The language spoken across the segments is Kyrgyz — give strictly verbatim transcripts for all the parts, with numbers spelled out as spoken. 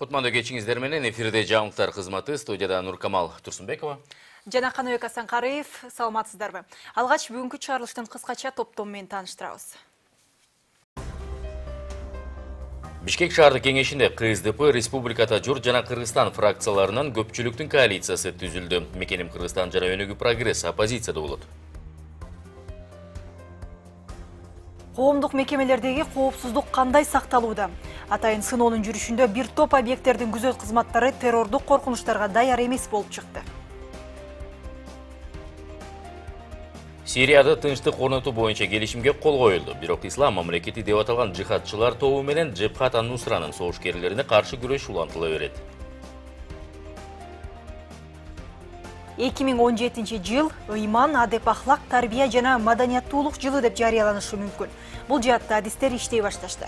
Кутмандуу кечиңиздер менен эфирде жаңылыктар кызматы, студияда Нуркамал Турсунбекова. Жана Каныбек Асанкариев, саламатсыздарбы? Алгач бүгүнкү чыгарылыштын кыскача топтому менен тааныштырабыз. Бишкек шаардык кеңешинде КСДП, Республиката журт жана Кыргызстан фракцияларынан көпчүлүктүн коалициясы түзүлдү. Мекеним Кыргызстан жана Өнүгүү прогресс оппозицияда болот. Коомдук мекемелердеги коопсуздук кандай сакталууда? Атайын сыноонун жүрүшүндө бир топ объекттердин күзөт кызматтары террордук коркунучтарга даяр эмес болуп чыкты. Сирияда тынчтык орнотуу боюнча келишимге кол коюлду. Бирок ислам мамлекети деп аталган жихадчылар тобу менен Джебхат ан-Нусранын согушкерлерине каршы күрөш улантыла берет. эки миң он жетинчи жыл ыйман, адеп, ахлак, тарбия жана маданияттуулук жылы деп жарыяланышы мүмкүн. Бул жаатта адистер иштей башташты.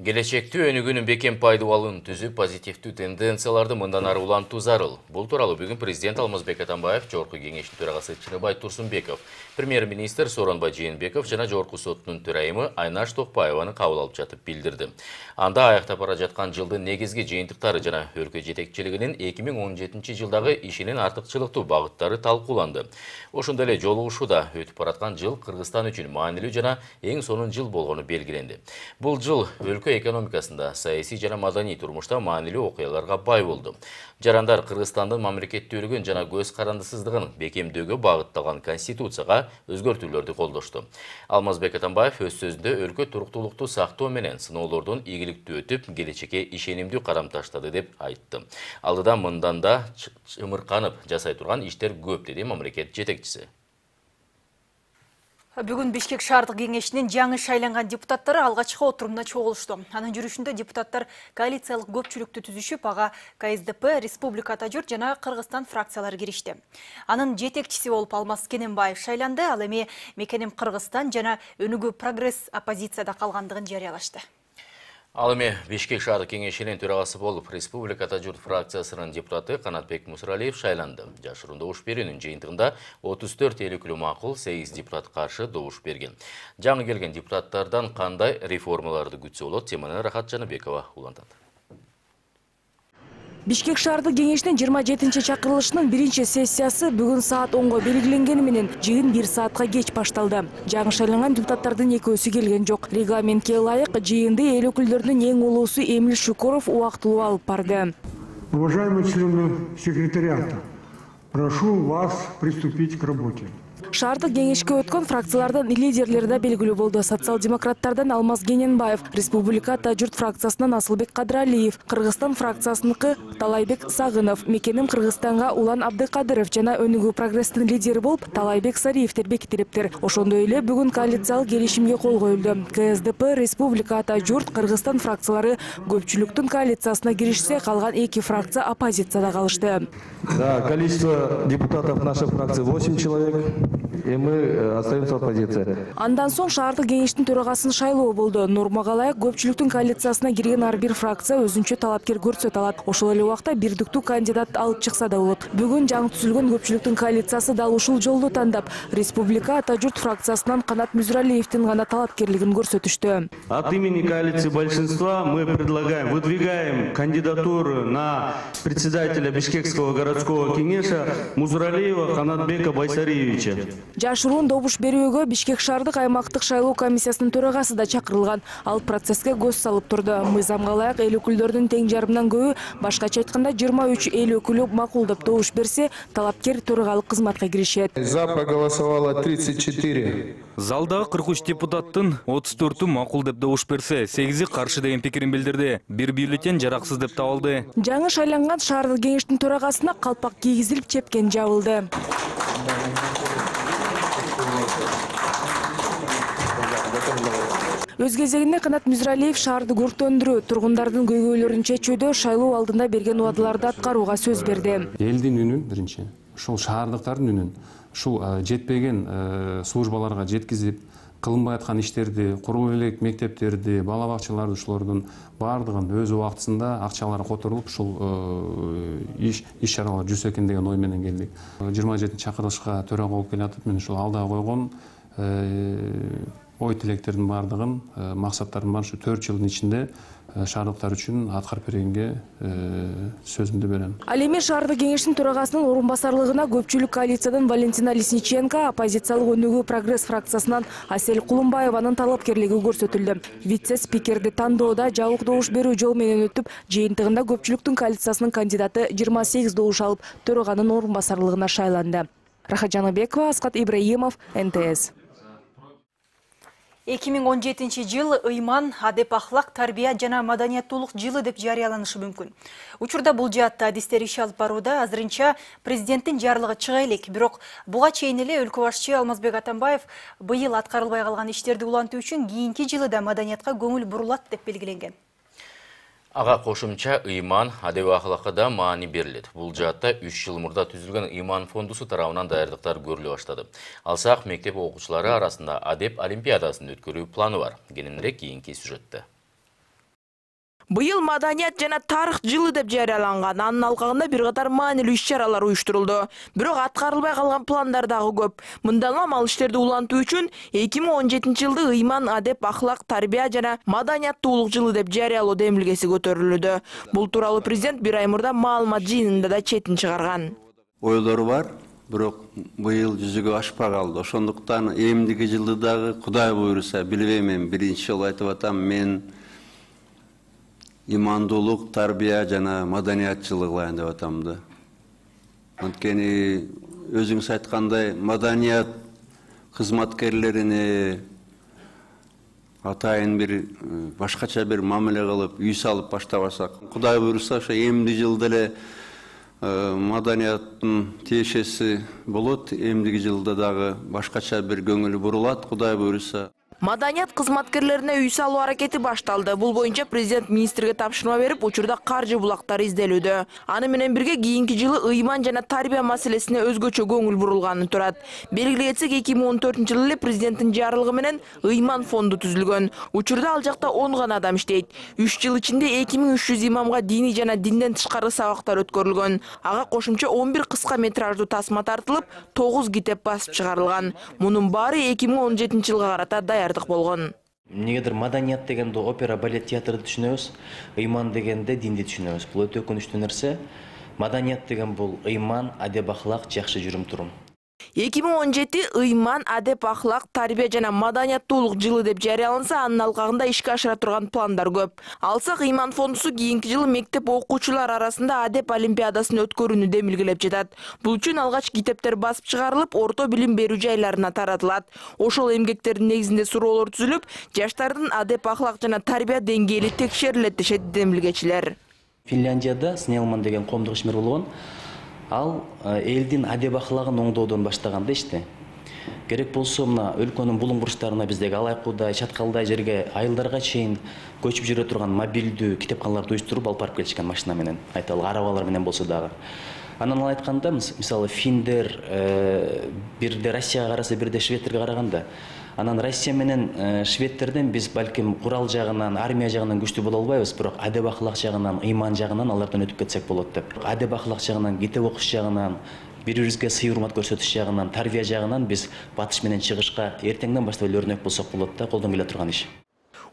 Келечекте өнүгүүнүн бекем пайдубалын түзүп, позитивдүү тенденцияларды мындан ары улантуу зарыл. Бул тууралуу бүгүн президент Алмазбек Атамбаев, жогорку кеңештин төрагасы Чыныбай Турсунбеков, премьер-министр Сооронбай Жээнбеков жана жогорку соттун төрайымы Айнаш Токпаеваны кабыл алып жатып билдирди. Анда аяктап бара жаткан жылдын негизги жыйынтыктары жана өлкө жетекчилигинин эки миң он жетинчи жылдагы ишинин артыкчылыктуу багыттары талкууланды. Ошондой эле жолугушууда өтүп бараткан жыл Кыргызстан үчүн маанилүү жана эң сонун жыл болгону белгиленди. Бул жыл өлкө экономикасында, саясий жана маданий турмушта маанилүү окуяларга бай болду. Жарандар Кыргызстандын мамлекеттүүлүгүн жана көз карандысыздыгын бекемдөөгө багытталган конституцияга өзгөртүүлөрдү колдошту. Алмазбек Атамбаев өз сөзүндө өлкө туруктуулукту сактоо менен сыноолордон ийгиликтүү өтүп, келечекке ишенимдүү кадам таштады деп айтты. Алдыда мындан да чымырканып жасай турган иштер көп, деди мамлекет жетекчиси. Бүгүн Бишкек шаардык кеңешинин жаңы шайланган депутаттары алгачкы отурумда чогулушту. Анын жүрүшүндө депутаттар коалициялык көпчүлүктү түзүшүп, ага КСДП, Республиката журт жана Кыргызстан фракциялары киришти. Анын жетекчиси болуп Алмаз Кененбаев шайланды, ал эми Мекеним Кыргызстан жана Өнүгүү прогресс оппозицияда калгандыгын жарыялашты. Ал эми Бишкек шаардык кеңешинин төрагасы болуп Республиката журт фракциясынын депутаты Канатбек Мусралиев шайланды. Жашыруун добуш берүүнүн жыйынтыгында отуз төрт эл өкүлү макул, сегиз депутат каршы добуш берген. Жаңы келген депутаттардан кандай реформаларды күтсө болот? Теманы Рахат Жаныбекова улантат. Бишкек шаардык кеңешинин жыйырма жетинчи чакырылышынын биринчи сессиясы бүгүн саат онго белгиленгени менен жыйын бир саатка кеч башталды. Жаңы шайланган депутаттардын экөөсү келген жок. Регламентке ылайык жыйынды эл өкүлдөрүнүн эң улуусу Эмил Шукуров убактылуу алып барды. Уважаемые члены секретариата, прошу вас приступить к работе. Шаардык кеңешке өткөн фракциялардын лидерлери да белгилүү болду. Социал-демократтардан Алмаз Кененбаев, Республиката журт фракциясынан Асылбек Кадыралиев, Кыргызстан фракциясыныкы Талайбек Сагынов, Мекеним Кыргызстанга Улан Абдыкадыров жана Өнүгүү прогресстин лидери болуп Талайбек Сариевтер бекитилиптир. Ошондой эле бүгүн коалициялык келишимге кол коюлду. КСДП, Республиката журт, Кыргызстан фракциялары көпчүлүктүн коалициясына киришсе, калган эки фракция оппозицияда калышты. Да, количество депутатов нашей фракции восемь человек. И мы остаемся в оппозиции. Андан соң шаардык кеңештин төрагасын шайлоо болду. Нормага ылайык көпчүлүктүн коалициясына кирген ар бир фракция өзүнчө талапкер көрсөтө алат. Ошол эле убакта бирдиктүү кандидат алып чыкса да болот. Бүгүн жаңы түзүлгөн көпчүлүктүн коалициясы дал ушул жолду тандап, Республика Ата журт фракциясынан Канат Мусралиевдин гана талапкерлигин көрсөтүштү. От имени коалиции большинства мы предлагаем, выдвигаем кандидатуру на председателя Бишкекского городского кеңеша Мусралиева Канатбека Байсариевича. Жашыруун добуш берүүгө Бишкек шаардык аймактык шайлоо комиссиясынын төрагасы да чакырылган. Ал процесске көз салып турду. Мыйзамга ылайык эл өкүлдөрүнүн тең жарымынан көбү, башкача айтканда жыйырма үч эл өкүлү макулдап добуш берсе, талапкер төрагалык кызматка киришет. За проголосовало тридцать четыре. Залдагы кырк үч депутаттын отуз төртү макул деп добуш берсе, сегизи каршы деген пикирин билдирди. Бир бюллетень жараксыз деп табылды. Жаңы шайланган шаардык кеңештин төрагасына калпак кийгизилип чепкен жабылды. Өз кезегинде Канат Мусралиев шаарды өрттөндүрүү, тургундардын көйгөйлөрүн чечүүдө шайлоо алдында берген убадаларды аткарууга сөз берди. Элдин үнүн биринчи, ушул шаардыктардын үнүн, ушул жетпеген службаларга жеткизип, кылынбай аткан иштерди, курулуп элек мектептерди, бала бакчаларды ушулардын баардыгын өз убактысында акчалары которулуп, ушул иш иш чаралар жүрсө экен деген ой менен келдик. жыйырма жетинчи чакырылышка төрага болуп келатып, мен ушул алдыга койгон ой тилектердин баардыгын, максаттардын баардыгын ушу төрт жылдын ичинде шаардыктар үчүн аткарып бергенге сөзүмдү берем. Ал эми шаардык кеңештин төрагасынын орун басарлыгына көпчүлүк коалициядан Валентина Лесниченко, оппозициялык өнүгүү Прогресс фракциясынан Асель Кулумбаеванын талапкерлиги көрсөтүлдү. Вице-спикерди тандоодо жабык добуш берүү жол менен өтүп, жыйынтыгында көпчүлүктүн коалициясынын кандидаты жыйырма сегиз добуш алып, төраганын орун басарлыгына шайланды. Рахат Жаныбекова, Аскат Ибраимов, эн тэ эс. эки миң он жетинчи жыл ыйман, адеп ахлак, тарбия жана маданияттуулук жылы деп жарыяланышы мүмкүн. Учурда бул жаатта адистер иш алып барууда, азырынча президенттин жарлыгы чыга элек. Бирок буга чейин эле өлкө башчы Алмазбек Атамбаев быйыл аткарылбай калган иштерди улантуу үчүн кийинки жылы да маданиятка көңүл бурулат деп белгиленген. Ага кошумча ыйман, адеп ахлакка да маани берилет. Бул жаатта үч жыл мурда түзүлгөн ыйман фондусу тарабынан даярдыктар көрүлө баштады. Алсак, мектеп окуучулары арасында адеп олимпиадасын өткөрүү планы бар. Кененирээк кийинки сюжетте. Быйыл маданият жана тарых жылы деп жарыяланган. Анын алкагында бир катар маанилүү иш-чаралар уюштурулду. Бирок аткарылбай калган пландар дагы көп. Мындан улам ал иштерди улантуу үчүн эки миң он жетинчи жылды ыйман, адеп, ахлак, тарбия жана маданияттуулук жылы деп жарыялоо демилгеси көтөрүлүүдө. Бул тууралуу президент бир ай мурда маалымат жыйынында да четин чыгарган. Ойлор бар, бирок быйыл жүзүгө ашпай калды. Ошондуктан эмдиги жылды дагы Кудай буйруса, билбейм, мен биринчи жолу айтып атам, мен имандуулук, тарбия жана маданият жылы кылайын деп атам да. Анткени өзүңүз айткандай, маданият кызматкерлерине атайын бир башкача бир мамиле кылып, үй салып баштабасак, Кудай буйруса, ошо эмди жылда эле маданияттын тиешеси болот, эмдиги жылда дагы башкача бир көңүл бурулат, Кудай буйруса. Маданият кызматкерлерине үй салуу аракети башталды. Бул боюнча президент министрге тапшырма берип, учурда каржы булактары изделүүдө. Аны менен бирге кийинки жылы ыйман жана тарбия маселесине өзгөчө көңүл бурулганы турат. Белгилей кетсек, эки миң он төртүнчү жылы эле президенттин жарлыгы менен ыйман фонду түзүлгөн. Учурда ал жакта он гана адам иштейт. үч жыл ичинде эки миң үч жүз имамга диний жана динден тышкары сабактар өткөрүлгөн. Ага кошумча он бир кыска метраждуу тасма тартылып, тогуз китеп басып чыгарылган. Мунун баары эки миң он жетинчи жылга карата даяр болгон. Эмнегедир маданият дегенде опера, балет, театрды түшүнөбүз, ыйман дегенде динди түшүнөбүз. Бул өтө өкүнүчтүү нерсе. Маданият деген бул ыйман, адеп, ахлак, жакшы жүрүм-турум. эки миң он жети ыйман, адеп, ахлак, тарбия жана маданияттуулук жылы деп жарыяланса, анын алкагында ишке ашыра турган пландар көп. Алсак, ыйман фондусу кийинки жылы мектеп окуучулар арасында адеп олимпиадасын өткөрүүнү демилгелеп жатат. Бул үчүн алгач китептер басып чыгарылып, орто билим берүү жайларына таратылат. Ошол эмгектердин негизинде суроолор түзүлүп, жаштардын адеп, ахлак жана тарбия деңгээли текшерилет дешет демилгечилер. Финляндияда Снелман деген коомдук ишмер болгон. Ал элдин адеп ахлагын оңдоодон баштаган да ишти. Керек болсо мына өлкөнүн булуң бурчтарына биздеги Алайкуудай, Чаткалдай жерге айылдарга чейин көчүп жүрө турган мобилдүү китепканаларды уюштуруп алып барып келишкен машина менен, айталы арабалар менен болсо дагы. Анан ал айтканда, мисалы финдер бирде Россияга караса, бирде шведтерге караганда, анан Россия менен шведтерден биз балким курал жагынан, армия жагынан күчтүү боло албайбыз, бирок адеп ахлак жагынан, ыйман жагынан алардан өтүп кетсек болот деп. Адеп ахлак жагынан, китеп окуш жагынан, бири-бирибизге сый урмат көрсөтүш жагынан, тарбия жагынан биз батыш менен чыгышка эртеңден баштап эле өрнөк болсок болот да, колдон келе турган иш.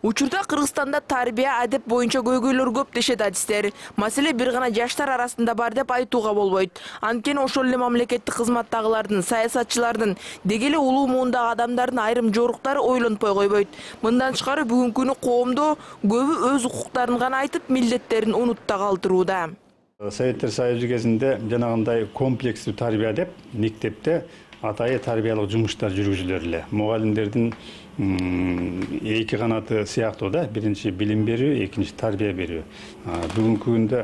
Учурда Кыргызстанда тарбия, адеп боюнча көйгөйлөр көп дешет адистер. Маселе бир гана жаштар арасында бар деп айтууга болбойт. Анткени ошол эле мамлекеттик кызматтагылардын, саясатчылардын, деги эле улуу муундагы адамдардын айрым жоруктары ойлонпой койбойт. Мындан тышкары бүгүнкү күнү коомдо көбү өз укуктарын гана айтып, милдеттерин унутта калтырууда. Советтер Союзу кезинде жанагындай комплекстүү тарбия деп мектепте атайы тарбиялык жумуштар жүргүзүлөр эле. Мугалимдердин эки канаты сыяктуу да, биринчи билим берүү, экинчи тарбия берүү. Бүгүнкү күндө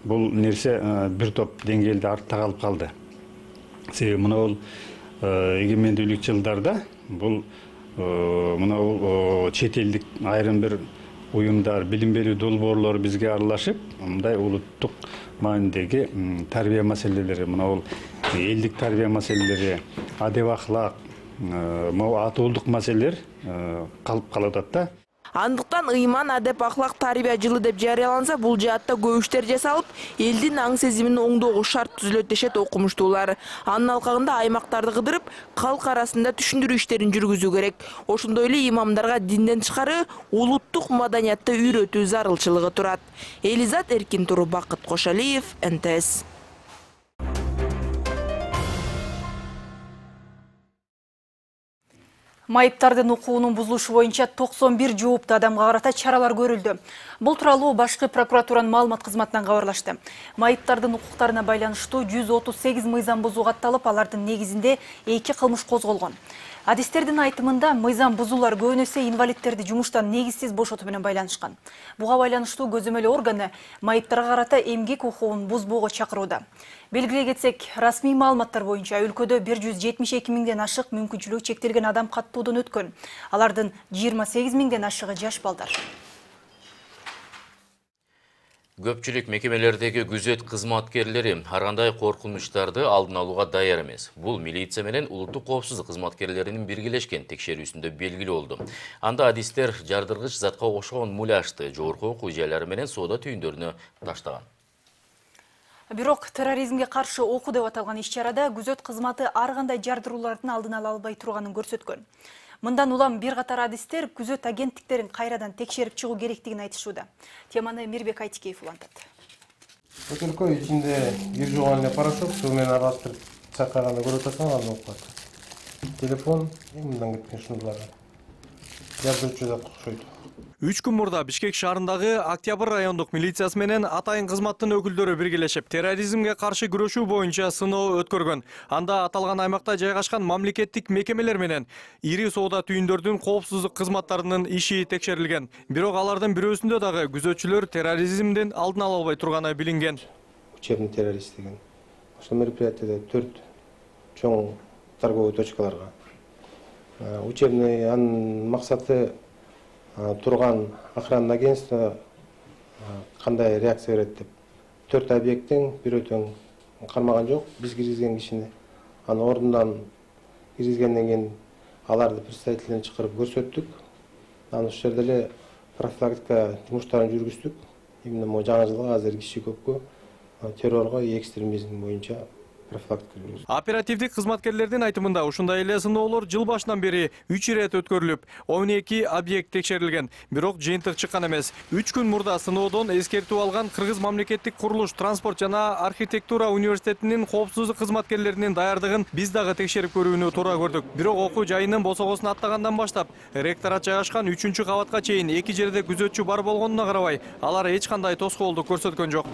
бул нерсе бир топ деңгээлде артта калып калды. Себеби мына бул эгемендүүлүк жылдарда бул мына бул чет элдик айрым бир уюмдар, билим берүү долбоорлору бизге аралашып, мындай улуттук маанидеги тарбия маселелери, мына бул элдик тарбия маселелери, адеп ахлак, атуулдук маселелер калып калып атат да. Андыктан ыйман адеп ахлак тарбия жылы деп жарыяланса, бул жаатта көп иштер жасалып, элдин аң сезимин оңдоого шарт түзүлөт дешет окумуштуулар. Анын алкагында аймактарды кыдырып, калк арасында түшүндүрүү иштерин жүргүзүү керек. Ошондой эле имамдарга динден тышкары улуттук маданиятты үйрөтүү зарылчылыгы турат. Элизат Эркин Туру, Бакыт Кошалиев, эн тэ эс. Майыптардын укугунун бузулушу боюнча токсон бир жооптуу адамга карата чаралар көрүлдү. Бул тууралуу башкы прокуратуранын маалымат кызматынан кабарлашты. Майыптардын укуктарына байланыштуу жүз отуз сегиз мыйзам бузуу катталып, алардын негизинде эки кылмыш козголгон. Адистердин айтымында мыйзам бузуулар көбүн эсе инвалидтерди жумуштан негизсиз бошотуу менен байланышкан. Буга байланыштуу көзөмөлөө органы майыптарга карата эмгек укугун бузбоого чакырууда. Белгилей кетсек, расмий маалыматтар боюнча өлкөдө бир жүз жетимиш эки миңден ашык мүмкүнчүлүгү чектелген адам каттоодон өткөн. Алардын жыйырма сегиз миңден ашыгы жаш балдар. Көпчүлүк мекемелердеги күзөт кызматкерлери ар кандай коркунучтарды алдын алууга даяр эмес. Бул милиция менен улуттук коопсуздук кызматкерлеринин биргелешкен текшерүүсүндө белгилүү болду. Анда адистер жардыргыч затка окшогон муляжды жогорку окуу жайлары менен соода түйүндөрүнө таштаган. Бирок терроризмге каршы окуу деп аталган иш-чарада күзөт кызматы ар кандай жардыруулардын алдын ала албай турганын көрсөткөн. Мындан улам бир катар адистер күзөт агенттиктерин кайрадан текшерип чыгуу керектигин айтышууда. Теманы Мирбек Айтикеев улантат. Өлкө ичинде бир жуган эле порошок суу менен аралаштырып чакырганда көрүп атасың, аны окуп атат. Телефон мындан кеткен шнурларга. Жардырчу да окшойт. Үч күн мурда Бишкек шаарындагы Октябрь райондук милициясы менен атайын кызматтын өкүлдөрү биргелешип, терроризмге каршы күрөшүү боюнча сыноо өткөргөн. Анда аталган аймакта жайгашкан мамлекеттик мекемелер менен ири соода түйүндөрдүн коопсуздук кызматтарынын иши текшерилген. Бирок алардын бирөөсүндө дагы күзөтчүлөр терроризмдин алдын ала албай турганы билинген. Учебный террорист деген. Ошол мероприятияда төрт чоң торговый точкаларга. Учебный анын максаты турган охранный агентство кандай реакция берет деп. Төрт объекттин бирөө тең кармаган жок. Биз киргизген кишини аны ордундан киргизгенден кийин аларды представительдерин чакырып көрсөттүк. Анан ошол жерде эле профилактика жумуштарын жүргүздүк. Именно могу жаңы жылга азыр киши көпкө террорго и экстремизм боюнча оперативдик кызматкерлердин айтымында ушундай эле сыноолор жыл башынан бери үч ирет өткөрүлүп, он эки объект текшерилген. Бирок жыйынтык чыккан эмес. үч күн мурда сыноодон эскертүү алган Кыргыз мамлекеттик курулуш, транспорт жана архитектура университетинин коопсуздук кызматкерлеринин даярдыгын биз дагы текшерип көрүүнү туура көрдүк. Бирок окуу жайынын босогосун аттагандан баштап, ректорат жайгашкан үчүнчү кабатка чейин эки жерде күзөтчү бар болгонуна карабай, алар эч кандай тоскоолдук көрсөткөн жок.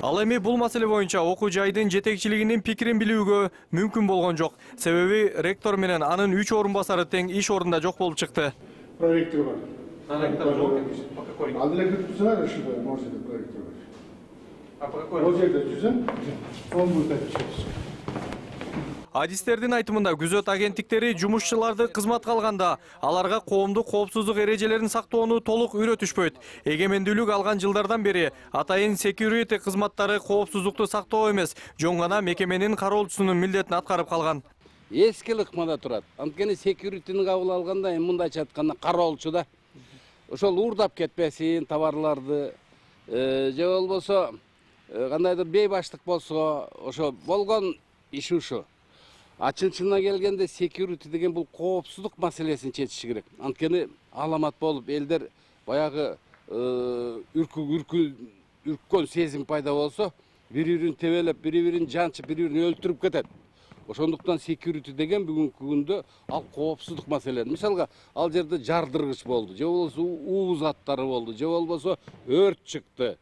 Ал эми бул маселе боюнча окуу жайдын жетекчилигинин пикирин билүүгө мүмкүн болгон жок. Себеби ректор менен анын үч орун басары тең иш орунда жок болуп чыкты. Проректор бар. Проректор жок. По какой? Ал эле күтүп турсаңар, ушул можете проректор бар. А по какой? Ол жерде жүзүн, он будет отвечать. Адистердин айтымында күзөт агенттиктери жумушчуларды кызматка алганда аларга коомдук коопсуздук эрежелерин сактоону толук үйрөтүшпөйт. Эгемендүүлүк алган жылдардан бери атайын security кызматтары коопсуздукту сактоо эмес, жөн гана мекеменин кароолчусунун милдетин аткарып калган. Эски ыкмада турат. Анткени security'ни кабыл алганда эми мындайча айтканда кароолчу да. Ошол уурдап кетпесин товарларды, же болбосо кандайдыр бейбаштык болсо, ошо болгон иш ушу. А чын-чынына келгенде security деген бул коопсуздук маселесин чечиши керек. Анткени аламат болуп элдер баягы үркү үрккөн сезим пайда болсо, бири-бирин тебелеп, бири-бирин жанчып, бири-бирин өлтүрүп кетет. Ошондуктан security деген бүгүнкү күндө ал коопсуздук маселе. Мисалга, ал жерде жардыргыч болду, же болбосо уу заттары болду, же болбосо өрт чыкты.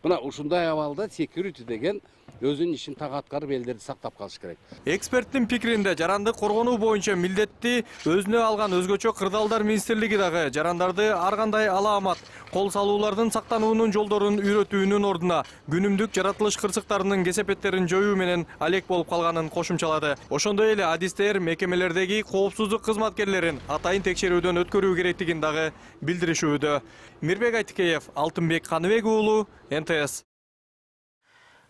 Мына ушундай абалда security деген өзүнүн ишин так аткарып элдерди сактап калыш керек. Эксперттин пикиринде жаранды коргонуу боюнча милдетти өзүнө алган өзгөчө кырдаалдар министрлиги дагы жарандарды ар кандай алаамат, кол салуулардын сактануунун жолдорун үйрөтүүнүн ордуна күнүмдүк жаратылыш кырсыктарынын кесепеттерин жоюу менен алек болуп калганын кошумчалады. Ошондой эле адистер мекемелердеги коопсуздук кызматкерлерин атайын текшерүүдөн өткөрүү керектигин дагы билдиришүүдө. Мирбек Айтыкеев, Алтынбек Каныбек уулу, эн тэ эс.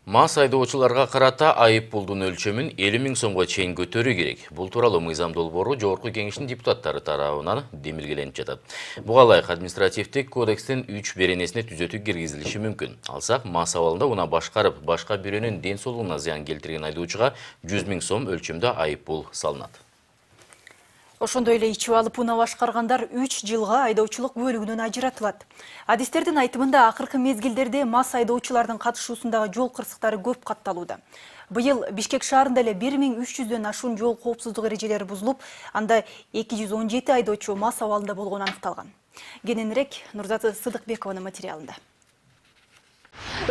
Мас айдоочуларга карата айып пулдун өлчөмүн элүү миң сомго чейин көтөрүү керек. Бул тууралуу мыйзам долбоору Жогорку Кеңештин депутаттары тарабынан демилгеленип жатат. Буга ылайык административдик кодекстин үч беренесине түзөтүү киргизилиши мүмкүн. Алсак, мас абалында уна башкарып, башка бирөөнүн ден соолугуна зыян келтирген айдоочуга жүз миң сом өлчөмдө айып пул салынат. Ошондой эле ичип алып уна башкаргандар үч жылга айдоочулук бөлүгүнөн ажыратылат. Адистердин айтымында акыркы мезгилдерде мас айдоочулардын катышуусундагы жол кырсыктары көп катталууда. Быйыл Бишкек шаарында эле бир миң үч жүздөн ашуун жол коопсуздук эрежелери бузулуп, анда эки жүз он жети айдоочу мас абалында болгону аныкталган. Кененирээк Нурзаты Сыдыкбекованын материалында.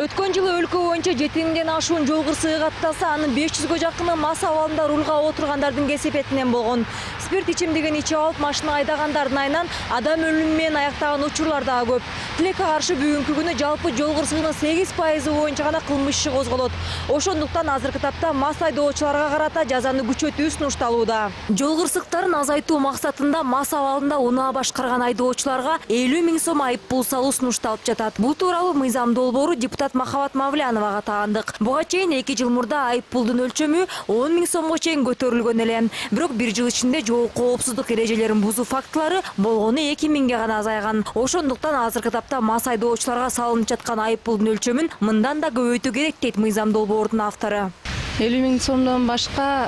Өткөн жылы өлкө боюнча жети миңден ашуун жол кырсыгы катталса, анын беш жүзгө жакыны мас абалында рулга отургандардын кесепетинен болгон. Спирт ичимдигин ичип алып машина айдагандардын айынан адам өлүмү менен аяктаган учурлар дагы көп. Тилекке каршы бүгүнкү күнү жалпы жол кырсыгынын сегиз пайызы боюнча гана кылмыш иши козголот. Ошондуктан азыркы тапта мас айдоочуларга карата жазаны күчөтүү сунушталууда. Жол кырсыктарын азайтуу максатында мас абалында унаа башкарган айдоочуларга элүү миң сом айып пул салуу сунушталып жатат. Бул тууралуу мыйзам долбоору депутат Махабат Мавляновага таандык. Буга чейин эки жыл мурда айып пулдун өлчөмү он миң сомго чейин көтөрүлгөн эле. Бирок бир жыл ичинде жол коопсуздук эрежелерин бузуу фактылары болгону эки миңге гана азайган. Ошондуктан азыркы тапта мас айдоочуларга салынып жаткан айып пулдун өлчөмүн мындан да көбөйтүү керек дейт мыйзам долбоордун автору. элүү миң сомдон башка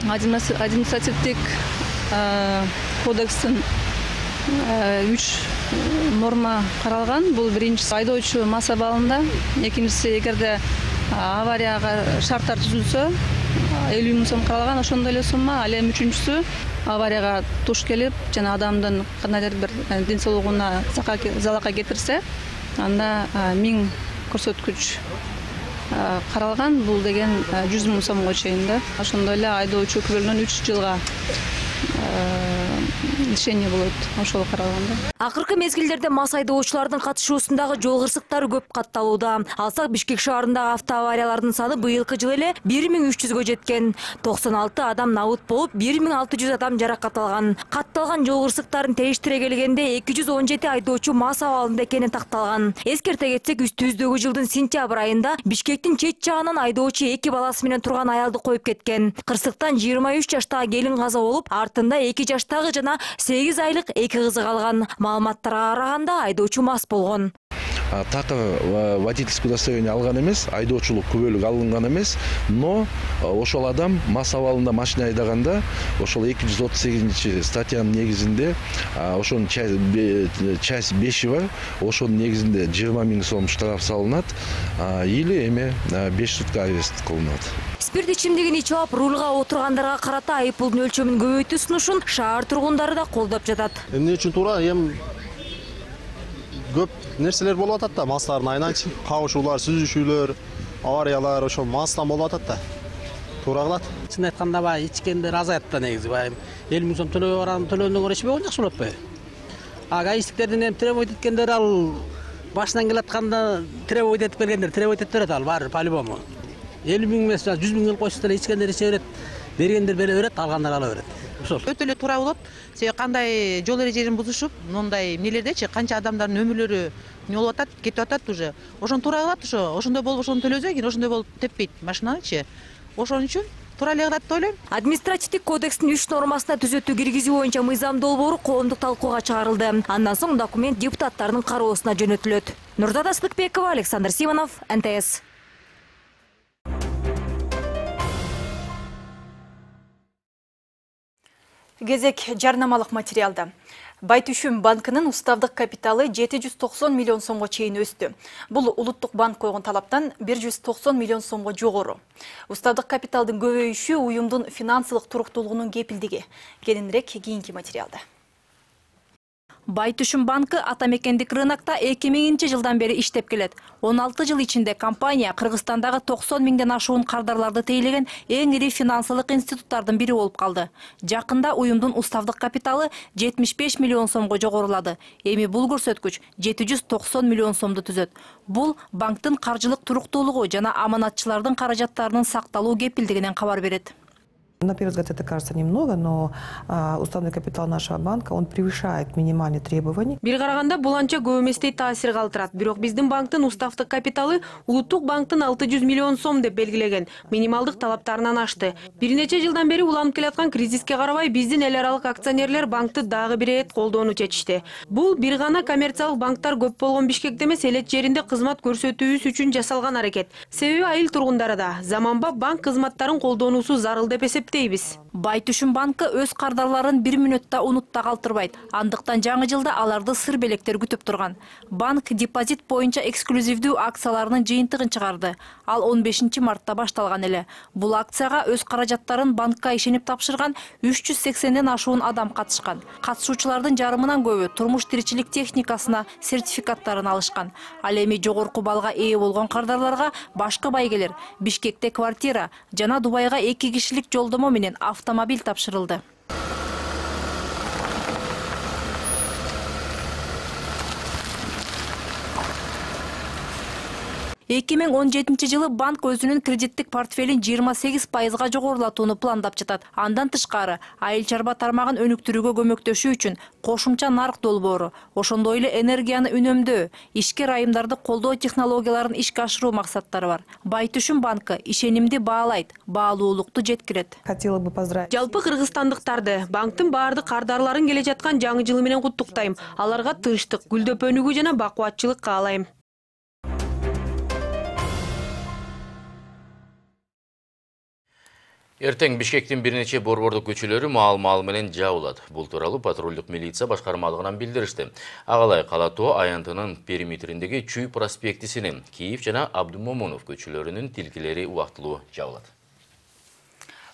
административдик кодекстин үч норма каралган. Бул биринчиси айдоочу мас абалында, экинчиси эгерде аварияга шарттар түзүлсө элүү миң сом каралган, ошондой эле сумма. Ал эми үчүнчүсү аварияга туш келип жана адамдын кандайдыр бир ден соолугуна залалга кетирсе, анда миң көрсөткүч каралган. Бул деген жүз миң сомго чейин да. Ошондой эле айдоочу күбөлүнөн үч жылга лишение болот, ошол каралганда. Акыркы мезгилдерде мас айдоочулардын катышуусундагы жол кырсыктары көп катталууда. Алсак, Бишкек шаарындагы автоавариялардын саны быйылкы жылы эле бир миң үч жүзгө жеткен. токсон алты адам набыт болуп, бир миң алты жүз адам жаракат алган. Катталган жол кырсыктарын териштире келгенде эки жүз он жети айдоочу мас абалында экени такталган. Эскерте кетсек, үстүбүздөгү жылдын сентябрь айында Бишкектин чет жагынан айдоочу эки баласы менен турган аялды коюп кеткен. Кырсыктан жыйырма үч жаштагы келин каза болуп, артында эки жаштагы жана сегиз айлык эки кызы калган. Маалыматтарга караганда айдоочу мас болгон. Так водительское удостоверение алган эмес, айдоочулук күбөлүк алынган эмес, но ошол адам мас абалында машина айдаганда ошол эки жүз отуз сегизинчи статьянын негизинде ошонун часть беши бар, ошонун негизинде жыйырма миң сом штраф салынат или эме беш сутка арест кылынат. Спирт ичимдигин ичип алып рулга отургандарга карата айып пулдун өлчөмүн көбөйтүү сунушун шаар тургундары да колдоп жатат. Эмне үчүн туура? Эми көп нерселер болуп атат да, мастардын айынан кабышуулар, сүзүшүүлөр, авариялар ошол мастан болуп атат да. Туура кылат. Чын айтканда баягы ичкендер азайып да негизи. Баягы элүү миң сом төлөбөй барган төлөөнүн көрө эчпей жакшы болот бе? А гаишниктердин эми требовать эткендер ал башынан келатканда требовать этип келгендер требовать этип берет ал баары по-любому. элүү миң эмес, жүз миң келип койсо деле ичкендер иче берет, бергендер бере берет, алгандар ала берет. Ошол. Өтө эле туура болот. Себеби кандай жол эрежелерин бузушуп, мындай эмнелердечи канча адамдардын өмүрлөрү не болуп атат, кетип атат уже. Ошону туура кылат ошо. Ошондой болуп ошону төлөсө, кийин ошондой болуп теппейт машинанычы. Ошон үчүн туура эле кылат деп ойлойм. Административдик кодекстин үч нормасына түзөтүү киргизүү боюнча мыйзам долбоору коомдук талкууга чыгарылды. Андан соң документ депутаттардын кароосуна жөнөтүлөт. Нурзата Сыдыкбекова, Александр Симонов, эн тэ эс. Кезек жарнамалык материалда. Байтүшүм банкынын уставдык капиталы жети жүз токсон миллион сомго чейин өстү. Бул улуттук банк койгон талаптан бир жүз токсон миллион сомго жогору. Уставдык капиталдын көбөйүшү уюмдун финансылык туруктуулугунун кепилдиги. Кененирээк кийинки материалда. Байтүшүн банкы ата мекендик рынокто эки миңинчи жылдан бери иштеп келет. он алты жыл ичинде компания Кыргызстандагы токсон миңден ашуун кардарларды тейлеген эң ири финансылык институттардын бири болуп калды. Жакында уюмдун уставдык капиталы жетимиш беш миллион сомго жогорулады. Эми бул көрсөткүч жети жүз токсон миллион сомду түзөт. Бул банктын каржылык туруктуулугу жана аманатчылардын каражаттарынын сакталуу кепилдигинен кабар берет. На первый взгляд это кажется немного, но а, уставной капитал нашего банка, он превышает минимальные требования. Бир караганда бул анча көп эместей таасир калтырат. Бирок биздин банктын уставдык капиталы улуттук банктын алты жүз миллион сом деп белгилеген минималдык талаптарынан ашты. Бир нече жылдан бери уланып келаткан кризиске карабай биздин эл аралык акционерлер банкты дагы бир эт колдоону чечишти. Бул бир гана коммерциялык банктар көп болгон Бишкекте эмес, элет жеринде кызмат көрсөтүүбүз үчүн жасалган аракет. Себеби айыл тургундары да заманбап банк кызматтарын колдонуусу зарыл деп эсептейт. Байтүшүн банкы өз кардарларын бир мүнөттө унутта калтырбайт. Андыктан жаңы жылда аларды сыр белектер күтүп турган. Банк депозит боюнча эксклюзивдүү акцияларынын жыйынтыгын чыгарды. Ал он бешинчи мартта башталган эле. Бул акцияга өз каражаттарын банкка ишенип тапшырган үч жүз сексенден ашуун адам катышкан. Катышуучулардын жарымынан көбү турмуш тиричилик техникасына сертификаттарын алышкан. Ал эми жогорку балга ээ болгон кардарларга башкы байгелер, Бишкекте квартира жана Дубайга эки кишилик жолдомо менен автомобиль тапшырылды. эки миң он жетинчи жылы банк өзүнүн кредиттик портфелин жыйырма сегиз пайызга жогорулатууну пландап жатат. Андан тышкары, айыл чарба тармагын өнүктүрүүгө көмөктөшүү үчүн кошумча нарк долбоору, ошондой эле энергияны үнөмдөө, ишкер айымдарды колдоо технологияларын ишке ашыруу максаттары бар. Байтүшүн банкы ишенимди баалайт, баалуулукту жеткирет. Хотела бы поздравить. Жалпы кыргызстандыктарды банктын баардык кардарларын келе жаткан жаңы жылы менен куттуктайм. Аларга тынчтык, гүлдөп өнүгүү жана бакубатчылык каалайм. Эртең Бишкектин бир нече борбордук көчөлөрү маал-маал менен жабылат. Бул тууралуу патрулдук милиция башкармалыгынан билдиришти. Агалай Кала Тоо аянтынын периметриндеги Чүй проспектисинин Киев жана Абдумомунов көчөлөрүнүн тилкелери убактылуу жабылат.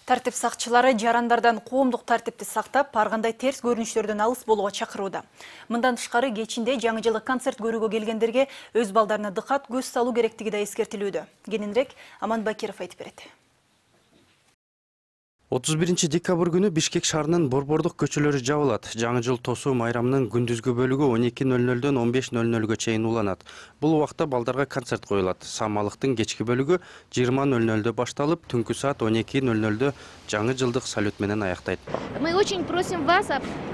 Тартип сакчылары жарандардан коомдук тартипти сактап, ар кандай терс көрүнүштөрдөн алыс болууга чакырууда. Мындан тышкары кечинде жаңы жылдык концерт көрүүгө келгендерге өз балдарына дыкат көз салуу керектиги да эскертилүүдө. Кененирээк Аман Бакиров айтып берет. отуз биринчи декабрь күнү Бишкек шаарынын борбордук көчөлөрү жабылат. Жаңы жыл тосуу майрамынын күндүзгү бөлүгү он эки нөл нөлдөн он беш нөл нөлгө чейин уланат. Бул убакта балдарга концерт коюлат. Самалыктын кечки бөлүгү жыйырма нөл нөлдө башталып, түнкү саат он эки нөл нөлдө жаңы жылдык салют менен аяктайт. Мы очень просим вас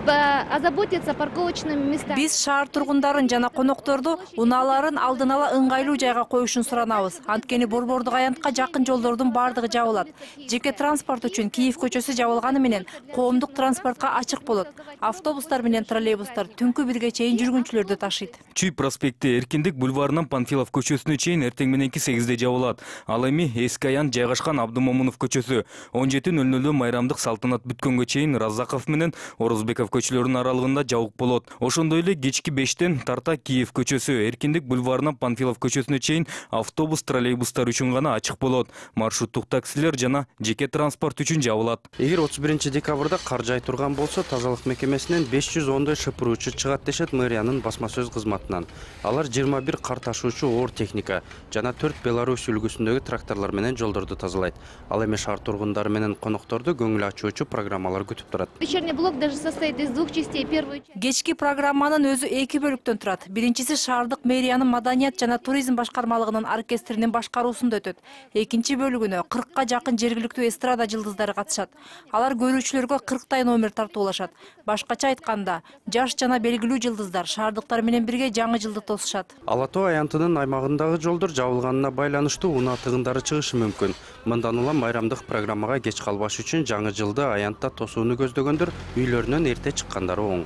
озаботиться парковочными местами. Биз шаар тургундарын жана конокторду унааларын алдын ала ыңгайлуу жайга коюшун суранабыз. Анткени борбордук аянтка жакын жолдордун бардыгы жабылат. Жеке транспорт үчүн Киев көчөсү жабылганы менен коомдук транспортко ачык болот. Автобустар менен троллейбустар түнкү бирге чейин жүргүнчүлөрдү ташыйт. Чүй проспекти Эркиндик бульварынан Панфилов көчөсүнө чейин эртең мененки сегизде жабылат. Ал эми эски аян жайгашкан Абдумомунов көчөсү он жети нөл нөлдө майрамдык салтанат бүткөнгө чейин Раззаков менен Орозбеков көчөлөрүнүн аралыгында жабык болот. Ошондой эле кечки бештен тарта Киев көчөсү Эркиндик бульварынан Панфилов көчөсүнө чейин автобус, троллейбустар үчүн гана ачык болот. Маршруттук таксилер жана жеке транспорт үчүн жабылат. Эгер отуз биринчи декабрда кар жай турган болсо, тазалык мекемесинен беш жүз ондой шыпыруучу чыгат дешет мэриянын басма сөз кызматынан. Алар жыйырма бир кар ташуучу оор техника жана төрт Беларусь үлгүсүндөгү тракторлор менен жолдорду тазалайт. Ал эми шаар тургундары менен конокторду көңүл ачуучу программалар күтүп турат. Вечерний блок даже состоит из двух частей. Первую часть. Кечки программанын өзү эки бөлүктөн турат. Биринчиси шаардык мэриянын маданият жана туризм башкармалыгынын оркестринин башкаруусунда өтөт. Экинчи бөлүгүнө кыркка жакын жергиликтүү эстрада жылдыздары катышат. Алар көрүүчүлөргө кырктай номер тартуулашат. Башкача айтканда, жаш жана белгилүү жылдыздар шаардыктар менен бирге жаңы жылды тосушат. Ала Тоо аянтынын аймагындагы жолдор жабылганына байланыштуу унаа тыгындары чыгышы мүмкүн. Мындан улам майрамдык программага кеч калбаш үчүн жаңы жылды аянтта тосууну көздөгөндөр үйлөрүнөн эрте чыккандары оң.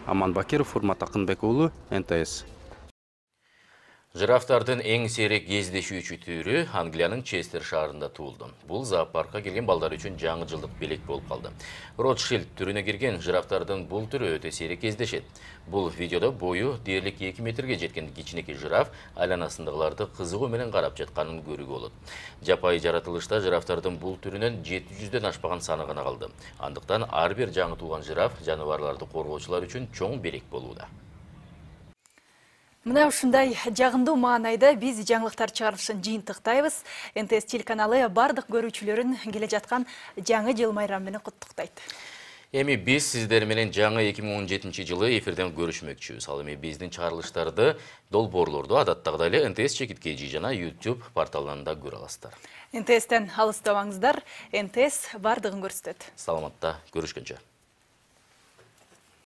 Аман Бакиров, Урмат Акынбек уулу, эн тэ эс. Жирафтардын эң сейрек кездешүүчү түрү Англиянын Честер шаарында туулду. Бул зоопаркка келген балдар үчүн жаңы жылдык белек болуп калды. Ротшильд түрүнө кирген жирафтардын бул түрү өтө сейрек кездешет. Бул видеодо бою дээрлик эки метрге жеткен кичинекей жираф айланасындагыларды кызыгуу менен карап жатканын көрүүгө болот. Жапайы жаратылышта жирафтардын бул түрүнөн жети жүздөн ашпаган саны гана калды. Андыктан ар бир жаңы тууган жираф жаныбарларды коргоочулар үчүн чоң белек болууда. Мына ушундай жагымдуу маанайда биз жаңылыктар чыгарылышын жыйынтыктайбыз. эн тэ эс телеканалы бардык көрүүчүлөрүн келе жаткан жаңы жыл майрамы менен куттуктайт. Эми биз сиздер менен жаңы эки миң он жетинчи жылы эфирден көрүшмөкчүбүз. Ал эми биздин чыгарылыштарды долбоорлорду адаттагыдай эле эн тэ эс чекит кей жи жана YouTube порталында көрө аласыздар. эн тэ эстен алыстабаңыздар. эн тэ эс бардыгын көрсөтөт. Саламатта көрүшкөнчө.